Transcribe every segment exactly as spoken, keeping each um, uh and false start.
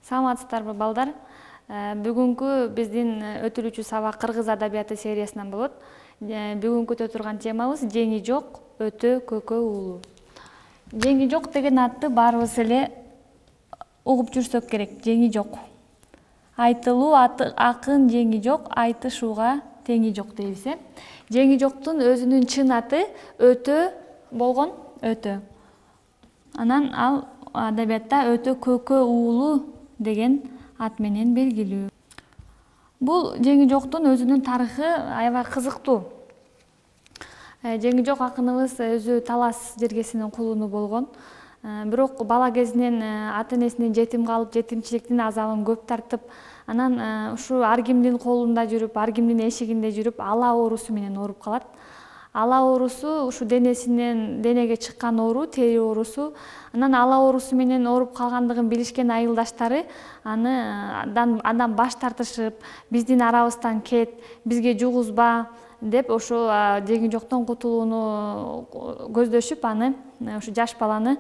Саламатсыздарбы балдар? Бүгүнкү биздин өтүлүүчү сабак кыргыз адабияты сериясынан болот. Бүгүнкү өтө турган темабыз жеңи жок, өтө көкө уулу. Жеңи жок деген атты баарыбыз эле угуп жүрсөк керек. Жеңи жок. Айтылуу акын жеңи жок, айтышууга теңи жок дейбиз. Жеңи жоктун өзүнүн чын аты өтө болгон, өтө. Анан ал адабиятта өтө көкө уулу деген ат менен белгилүү. Бул жеңи жоктун өзүнүн тарыхы аябай кызыктуу. Жеңи жок акыныбыз өзү Талас жергесинин кулуну болгон. Бирок бала кезинен ата энесинен жетим калып, жетимчиликтин азабын көп тартып, анан ушу ар кимдин колунда жүрүп, ар кимдин эшигинде жүрүп, ала оорусу менен ооруп калат. Ала оорусу ушу денесинен денеге чыккан оору, тери оорусу. Анан ала оорусу менен ооруп калгандыгын билишкен айылдаштары аны андан баш тартышып, биздин арабыздан кет, бизге жугузба деп ошо жеңи жоктон кутулууну көздөшүп, аны ушу жаш баланы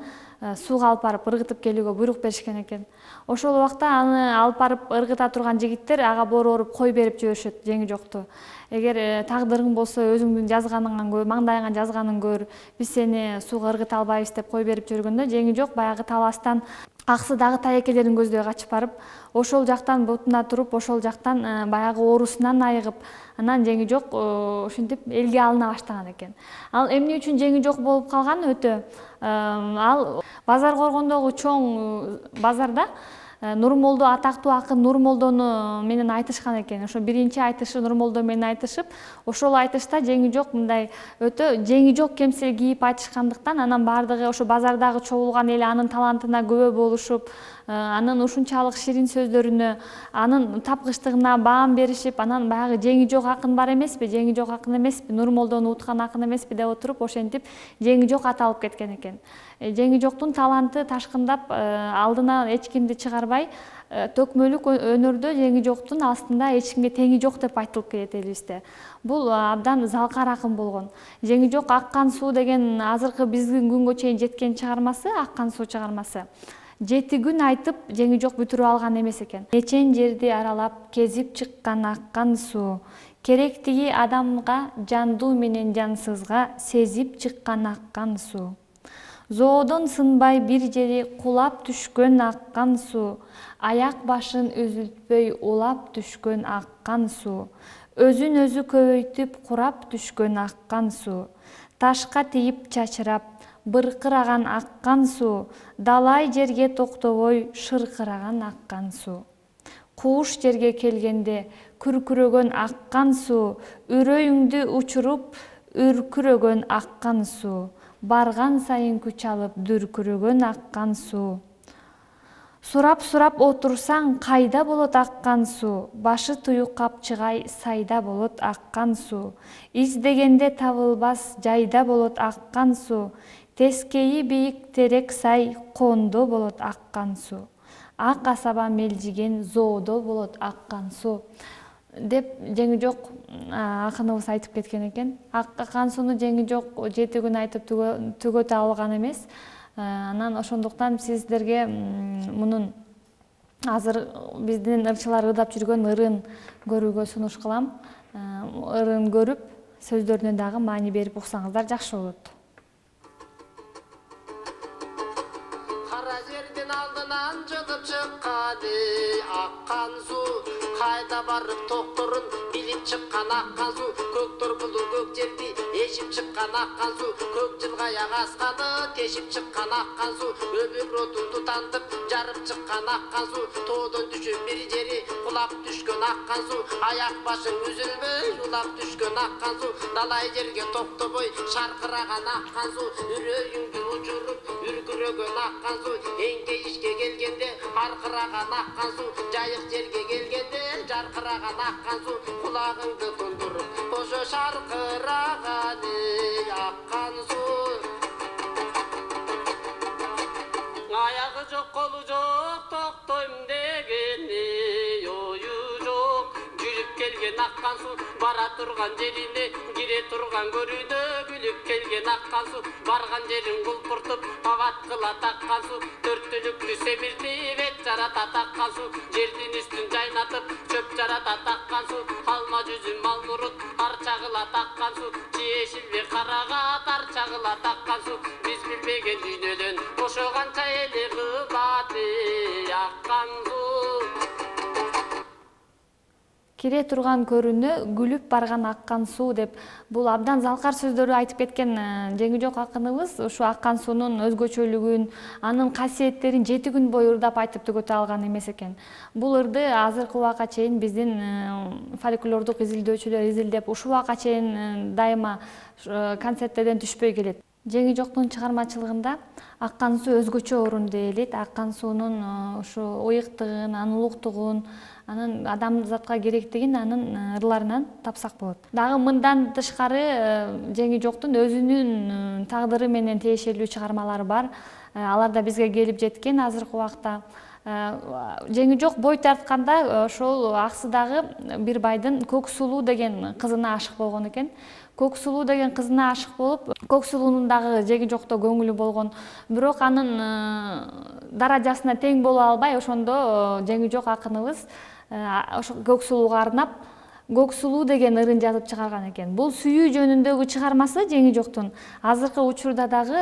сууга алып барып ыргытып келүүгө буйрук беришкен экен. Ошол убакта аны алып барып ыргыта турган жигиттер ага борооруп кой берип жиберишет жеңи жокту. Эгер тагдырың болсо өзүңдүн жазганыңан көр, маңдайыңа жазганын көр, биз сени сууга ыргыта албайбыз деп кой берип жүргөндө жеңи жок баягы Таластан аксы дагы таекелерин көздөй качып барып, ошол жактан бутуна туруп, ошол жактан баягы оорусунан айыгып, анан жеңи жок ушинтип элге алына баштаган экен. Ал эмне үчүн жеңи жок болуп калган өтө? Ал Базар Коргондогу чоң базарда Нурмолдо, атактуу акын Нурмолдону менен айтышкан экен. Ошо биринчи айтышы Нурмолдо менен айтышып, ошол айтышта жеңи жок мындай өтө жеңи жок кемсел кийип айтышкандыктан, анан баардыгы ошо базардагы чогулган эл анын талантына күбө болушуп, анын ушунчалык ширин сөздөрүнө, анын тапкычтыгына баам беришип, анан баягы жеңи жок акын бар эмеспи, жеңи жок акын эмеспи, Нурмолдону уткан акын эмеспи деп отуруп, ошентип жеңи жок аталып кеткен экен. Жеңи жоктун таланты ташкындап, алдына эч кимди чыгарбай, төкмөлүк өнөрдө жеңи жоктун астында эч кимге теңи жок деп айтылып келет элибизде. Бул абдан залкар акын болгон. Жеңи жок аккан суу деген азыркы биздин күнгө чейин жеткен чыгармасы, аккан суу чыгармасы. Жети күн айтып жеңи жок бүтүрүп алган эмес экен. Нечен жерди аралап кезип чыккан аккан суу, керектиги адамга жандуу менен жансызга сезип чыккан аккан суу. Зоодон сынбай бир жери кулап түшкөн аккан суу, аяк башын үзүлтпөй улап түшкөн аккан суу, өзүн өзү көбөйтүп курап түшкөн аккан суу, ташка тийип чачырап, быркыраган аккан суу, далай жерге токтобой шыркыраган аккан суу. Кууш жерге келгенде күркүрөгөн аккан суу, үрөйүңдү учуруп үркүрөгөн аккан суу, барган сайын күч алып дүркүрөгөн аккан суу. Сурап-сурап отурсаң кайда болот аккан суу, башы туюк капчыгай сайда болот аккан суу, издегенде табылбас жайда болот аккан суу, тескейи бийик терек сай кондо болот аккан суу, ак асаба мелжиген зоодо болот аккан суу деп жеңи жок акыныбыз айтып кеткен экен. Аккан сууну жеңи жок жети күн айтып түгөтө алган эмес. Анан ошондуктан сиздерге мунун азыр биздин ырчылар ырдап жүргөн ырын көрүүгө сунуш кылам. Ырын көрүп, сөздөрүнө дагы маани берип уксаңыздар жакшы болот. Кара жердин алдынан жылып чыкканы аккан суу, кайда барып токторун билип чыккан аккан суу, көктөр булур көк жерди эшип чыккан аккан суу, көк жылгая асканы тешип чыккан аккан суу, өмүр отун тутантып жарып чыккан аккан суу, тоодон түшүп бир жери кулап түшкөн аккан суу, аяк башың үзүлбөй улап түшкөн аккан суу, далай жерге токтобой шаркыраган аккан суу, үрөйүңдү учуруп үркүрөгөн аккан суу, эңкейишке келгенде аркыраган аккан суу, жайык жерге келгенде жаркыраган аккан суу, кулагыңды тундуруп ошо шаркыраган аккан суу. Аягы жок колу жок токтойм дегени ою жок, жүрүп келген аккан аккан суу, бара турган жерине кире турган көрүнө күлүп келген аккан суу, барган жерин кулпуртуп абат кылат аккан суу, төрт түлүктү семиртип эт жаратат аккан суу, жердин үстүн жайнатып чөп жаратат аккан суу, алма жүзүм малмурут арча кылат аккан суу, жешилби карагат арча кылат аккан суу, биз билбеген дүйнөдөн ошо канча эле кымбат аккан суу. Кире турган көрүнө күлүп барган аккан суу деп бул абдан залкар сөздөрү айтып кеткен Жеңижок акыныбыз ушу аккан суунун өзгөчөлүгүн, анын касиеттерин жети күн бою ырдап айтып түгөтө алган эмес экен. Бул ырды азыркы убакка чейин биздин фольклордук изилдөөчүлөр изилдеп ушул убакка чейин дайыма концерттерден түшпөй келет. Жеңижоктун чыгармачылыгында аккан суу өзгөчө орунду ээлейт. Аккан суунун ушу ыйыктыгын, анын улуктугун, анын адамзатка керектигин анын ырларынан тапсак болот. Дагы мындан тышкары Жеңижоктун өзүнүн тагдыры менен тиешелүү чыгармалары бар. Алар да бизге келип жеткен азыркы убакта. Жеңижок бой тартканда ошол Аксыдагы бир байдын Көксулуу деген кызына ашык болгон экен. Көксулуу деген кызына ашык болуп, Көксулуунун дагы Жеңижокто көңүлү болгон. Бирок анын даражасына тең боло албай, ошондо Жеңижок акыныбыз ошо Көксулууга арнап Көксулуу деген ырын жазып чыгарган экен. Бул сүйүү жөнүндөгү чыгармасы Жеңижоктун азыркы учурда дагы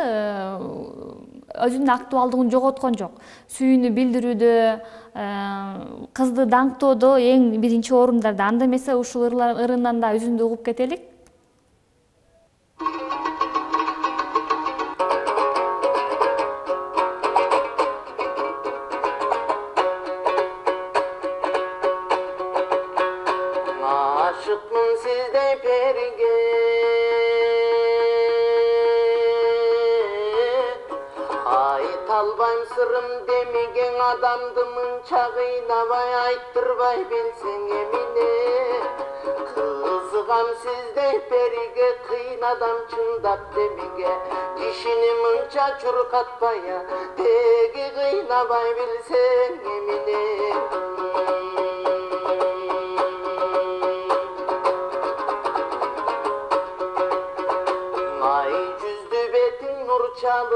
өзүнүн актуалдыгын жоготкон жок. Сүйүүнү билдирүүдө, кызды даңктоодо эң биринчи орундарда. Анда эмесе ушул ырынан да үзүндү угуп кетелик. Aşıkmın sizde perige, ait albayım sırrım demigen adamdı mınça kıynabay ayttırбай bilsen emine. Kızıgam sizde perige, kıynadam çındap demige, dişini mınça çurkatbaya tegi kıynabay bilsen emine. Ay yüzdü betin nur çalıp,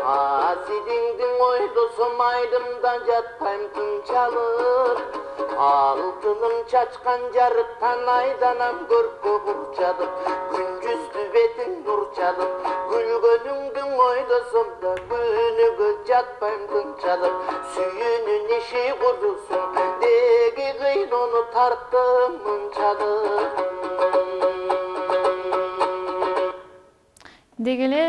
azidingdin oydusum aydımda jatpayım tün çalıp, altınım çaçkan jarıktan aydanam körpü kurçalıp, gün yüzdü betin nur çalıp, gülgönüngdin oydusumda günügü jatpayım tün çalıp, sүйünün işi kurusun degi kıyın onu tarttım mınçalıp. Дегеле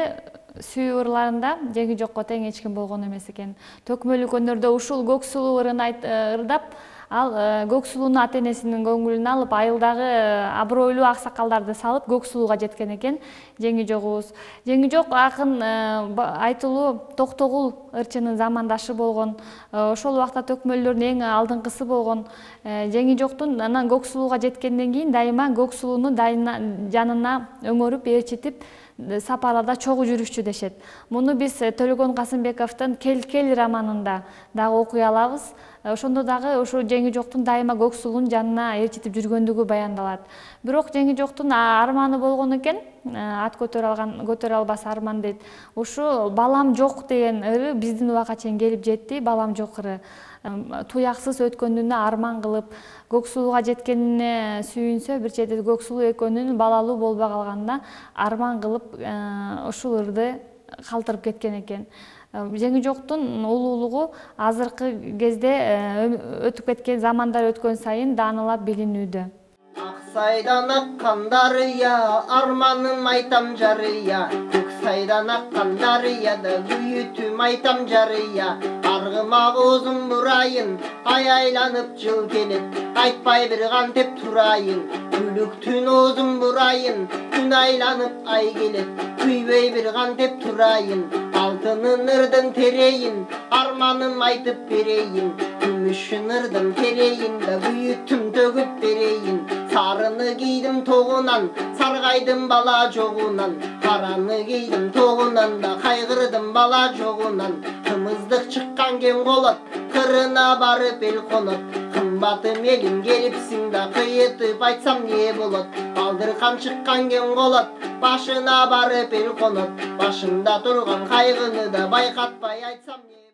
сүйүү ырларында Жеңижокко тең эч ким болгон эмес экен. Төкмөлүк өнөрдө ушул Көксулуу ырын ырдап, ал Көксулуунун ата энесинин көңүлүн алып, айылдагы абройлуу аксакалдарды салып Көксулууга жеткен экен Жеңижогубуз. Жеңижок акын айтылуу Токтогул ырчынын замандашы болгон. Ошол убакта төкмөлдөрдүн эң алдыңкысы болгон. Жеңижоктун анан Көксулууга жеткенден кийин дайыма Көксулууну жанына өңөрүп, ээрчитип сапарларда чогуу жүрүшчү дешет. Муну биз Төлөгөн Касымбековдун Кел кел романында дагы окуй алабыз. Ошондо дагы ошо Жеңижоктун дайыма Көксулуунун жанына ээрчитип жүргөндүгү баяндалат. Бирок Жеңижоктун арманы болгон экен, ат көтөрө алган, көтөрө албас арман дейт. Ушу балам жок деген ыры биздин убакка чейин келип жетти, балам жок ыры. Туяксыз өткөнүнө арман кылып, Көксулууга жеткенине сүйүнсө, бир чети Көксулуу экөөнүн балалуу болбой калганына арман кылып ушул ырды калтырып кеткен экен. Жеңижоктун улуулугу азыркы кезде өтүп кеткен замандар өткөн сайын даанылап билинүүдө. Аксайдан аккан дарыя, арманым айтам жарыя, Көксайдан аккан дарыяда күйүтүм айтам жарыя. Аргыма озун бурайын, ай айланып жыл келет, айтпай бир кантип турайын. Күлүктүн озун бурайын, күн айланып ай келет, күйбөй бир кантип турайын. Алтынын ырдын терейин, арманым айтып берейин. Күмүшүн ырдын терейин да күйүтүм төгүп берейин. Сарыны Караны кийдим тогунан, саргайдым бала жогунан. Караны кийдим тогунан да кайгырдым бала жогунан. Кымыздык чыккан кем колот, кырына барып эл конот. Кымбатым элим келипсиң да кыйытып айтсам не болот? Балдыркан чыккан кем колот, башына барып эл конот. Башында турган кайгыны да байкатпай айтсам не болот?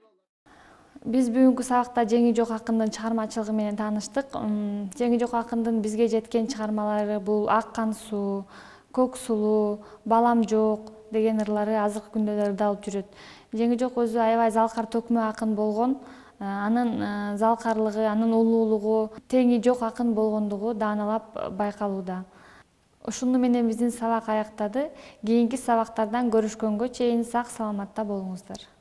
Биз бүгүнкү сабакта Жеңи Жок акындын чыгармачылыгы менен тааныштык. Жеңи Жок акындын бизге жеткен чыгармалары бул Аккан суу, Көк сулуу, Балам жок деген ырлары азыркы күндө ырдалып жүрөт. Жеңи Жок өзү аябай залкар төкмө акын болгон. Анын залкарлыгы, анын улуулугу, теңи жок акын болгондугу дааналап байкалууда. Ушуну менен биздин сабак аяктады. Кийинки сабактардан көрүшкөнгө чейин сак саламатта болуңуздар.